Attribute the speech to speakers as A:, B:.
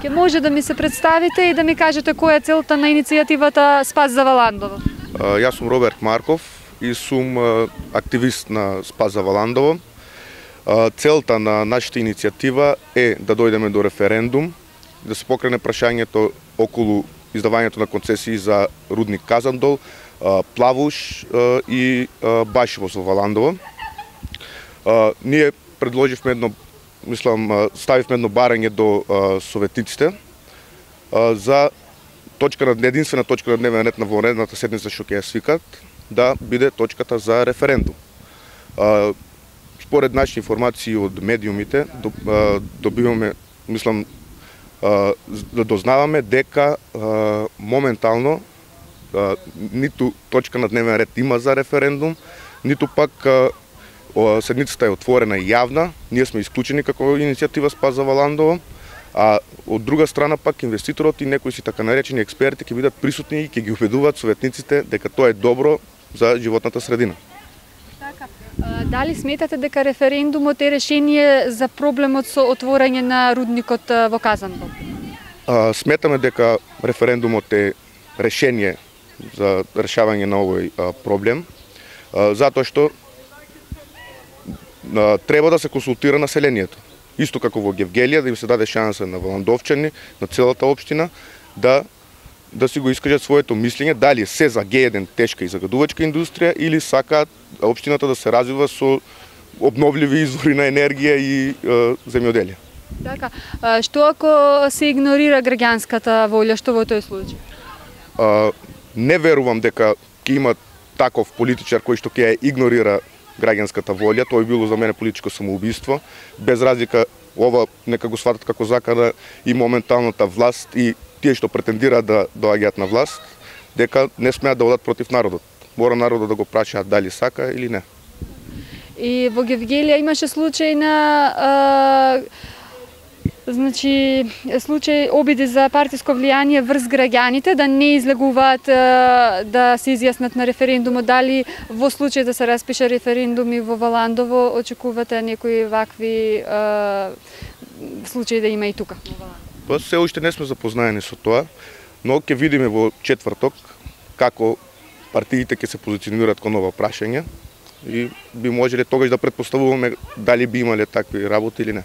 A: Ке може да ми се представите и да ми кажете која е целта на иницијативата Спас за Валандово?
B: Јас сум Роберт Марков и сум активист на Спас за Валандово. Целта на нашата иницијатива е да дојдеме до референдум, да се покрене прашањето околу издавањето на концесии за рудник Казандол, Плавуш и Башево во Валандово. Ние предложивме ставивме едно барање до советниците за единствена точка на дневен ред на вонредната седница што ќе ја свикат, да биде точката за референдум. Според нашите информации од медиумите добиваме, да дознаваме дека моментално ниту точка на дневен ред има за референдум, ниту пак седницата е отворена и јавна. Ние сме исклучени како иницијатива Спас за Валандово, а од друга страна пак инвеститорот и некои си така наречени експерти ќе бидат присутни и ќе ги убедуваат советниците дека тоа е добро за животната средина.
A: Дали сметате дека референдумот е решение за проблемот со отворање на рудникот во Казандол?
B: Сметаме дека референдумот е решение за решавање на овој проблем, затоа што треба да се консултира населението. Исто како во Гевгелија, да им се даде шанса на валандовчани, на целата општина, да си го искажат своето мислење, дали се за Г1 тешка и загадувачка индустрија или сакаат општината да се развива со обновливи извори на енергија и земјоделие.
A: Така, што ако се игнорира граѓанската волја, што во тој случај?
B: Не верувам дека ќе има таков политичар кој што ќе ја игнорира граѓанската волја. Тоа било за мене политичко самоубиство. Без разлика, ова нека го сватат како закана и моменталната власт и тие што претендираат да доаѓаат на власт, дека не смеат да одат против народот. Мора народот да го прашаат дали сака или не.
A: И во Гевгелија имаше случај на случај обиди за партиско влијание врз граѓаните да не излегуваат да се изјаснат на референдумот. Дали во случај да се распише референдум и во Валандово очекувате некои вакви случаи да има и тука?
B: Па се уште не сме запознаени со тоа, но ќе видиме во четврток како партиите ќе се позиционираат кон ова прашање и би можеле тогаш да претпоставуваме дали би имале такви работи или не.